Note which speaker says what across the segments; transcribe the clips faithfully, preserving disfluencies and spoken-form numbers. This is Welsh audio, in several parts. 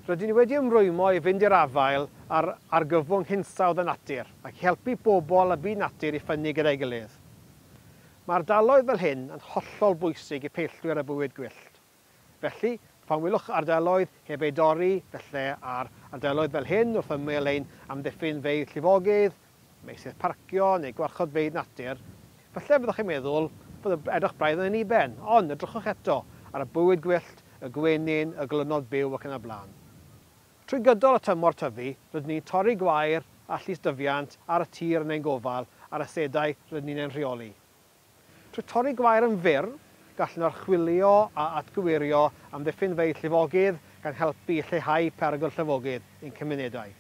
Speaker 1: Rydyn ni wedi ymrwymo i fynd i'r afael ar argyfwng hinsawdd a natur ac i helpu bobl a byd natur i ffynnu gyda'i gilydd. Mae ardaloedd fel hyn yn hollol bwysig i peillwyr a bywyd gwyllt. Felly, pan welwch ardaloedd heb eu dorri, felly ar ardaloedd fel hyn wrth ymyl ein amddiffynfeydd llifogydd, meysydd parcio neu gwarchodfeydd natur, falle byddwch chi'n meddwl bod y edrych braidd yn anniben, ond edrychwch eto ar y bywyd gwyllt, y gwenyn, y glynod byw ac yn y blaen. Trwy gydol y tymor tyfu, rydyn ni'n torri gwair a llystyfiant ar y tir yn ein gofal a'r asedau rydyn ni'n ein rheoli. Trwy torri gwair yn fyr, gallwn archwilio a atgyweirio amddiffynfeydd llifogydd gan helpu i lleihau perygl llifogydd i'n cymunedau.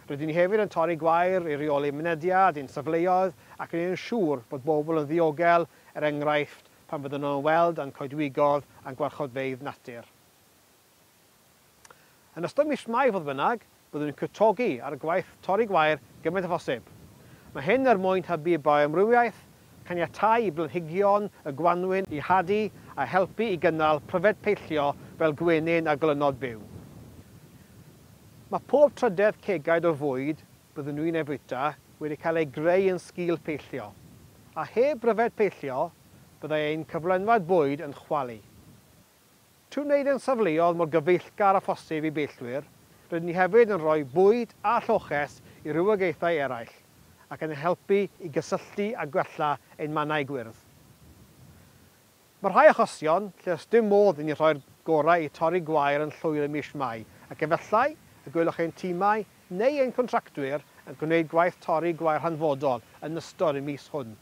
Speaker 1: Rydyn ni hefyd yn torri gwair i reoli mynediad i'n safleoedd ac yn ein siŵr bod bobl yn ddiogel, er enghraifft, pan fyddwn nhw'n weld â'n coedwigoedd a'n gwarchodfeydd natur. Yn ystod mis Mai, fodd bynnag, byddwn ni'n cwtogi ar y gwaith torri gwair gymaint â phosib. Mae hyn er mwyn hybu bioamrywiaeth, caniatáu i blanhigion y gwanwyn i hadu a helpu i gynnal pryfed peillio fel gwenyn a glynod byw. Mae pob trydedd cegaid o fwyd byddwn nhw'n ei fwyta wedi cael ei greu yn sgil peillio, a heb bryfed peillio, byddai ein cyflenwad bwyd yn chwalu. Trwy wneud ein safleoedd mor gyfeillgar â phosib i beillwyr, rydyn ni hefyd yn rhoi bwyd a lloches i rywogaethau eraill ac yn helpu i gysylltu a gwella ein mannau gwyrdd. Mae rhai achosion lle does dim modd i ni rhoi'r gorau i torri gwair yn llwyr ym mis Mai, ac efallai y gwelwch ein timau neu ein contractwyr yn gwneud gwaith torri gwair hanfodol yn ystod y mis hwn.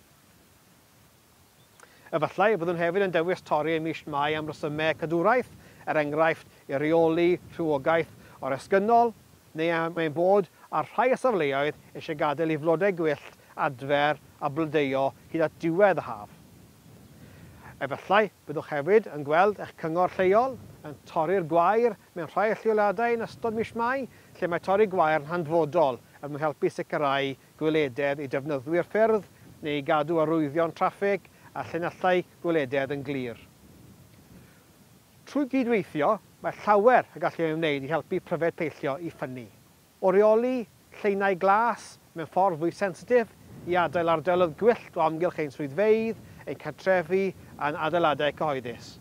Speaker 1: Efallai y byddwn hefyd yn dewis torri ym mis Mai am resymau cadwraeth, er enghraifft i reoli rhywogaeth oresgynnol, neu am ein bod ar rhai o safleoedd eisiau gadael i flodau gwyllt adfer a blodeuo hyd at diwedd y haf. Efallai byddwch hefyd yn gweld eich cyngor lleol yn torri'r gwair mewn rhai lleoliadau yn ystod mis Mai, lle mae torri gwair yn hanfodol er mwyn helpu sicrhau gwelededd i defnyddwyr ffyrdd neu i gadw arwyddion traffig a llinellau gwelededd yn glir. Trwy gydweithio, mae llawer y gallu ei wneud i helpu pryfed peillio i ffynnu. O reoli lleinau glas mewn ffordd fwy sensitif i adael ardaloedd gwyllt o amgylch ein swyddfeydd, ein cartrefi a'n adeiladau cyhoeddus.